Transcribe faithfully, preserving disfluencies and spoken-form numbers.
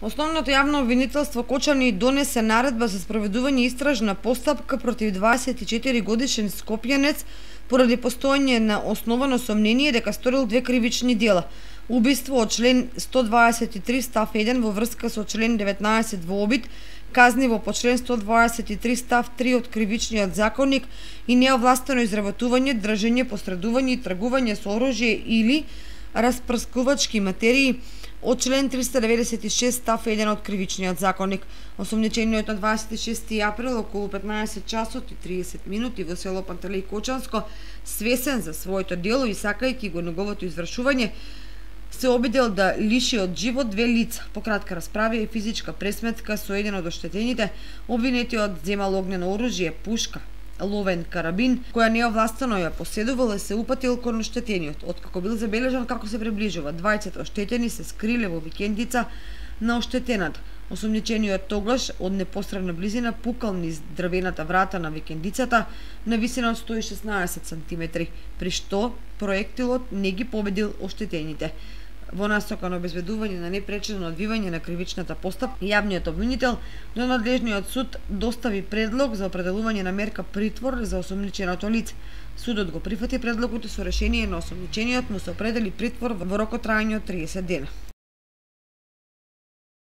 Основното јавно обвинителство Кочани донесе наредба за спроведување истражна постапка против дваесет и четири годишен скопјанец поради постоење на основано сомнение дека сторил две кривични дела: убиство од член сто дваесет и три став еден во врска со член деветнаесет во обид, казниво по член сто дваесет и три став три од кривичниот законник и неовластено изработување, држење, посредување и тргување со оружје или распрскувачки материи од член триста деветдесет и шест став еден од кривичниот законник. Осомничениот на дваесет и шести април околу петнаесет часот и триесет минути во село Пантелеј Кочанско, свесен за своето дело и сакајќи го неговото извршување, се обидел да лиши од живот две лица. По кратка расправа и физичка пресметка со еден од оштетените, обвинетиот земал огнено оружје, пушка, ловен карабин, која неовластено ја поседувал и се упатил кон оштетениот. Откако бил забележан како се приближува, двајцата оштетени се скриле во викендица на оштетената. Осомничениот тогаш од непосредна близина пукал низ дрвената врата на викендицата на висина од сто и шеснаесет сантиметри, при што проектилот не ги победил оштетените. Во насока на обезбедување на непречено одвивање на кривичната постапка, јавниот обвинител до надлежниот суд достави предлог за определување на мерка притвор за осомниченото лице. Судот го прифати предлогот и со решение на осомничениот му се определи притвор во рок од траење од триесет дена.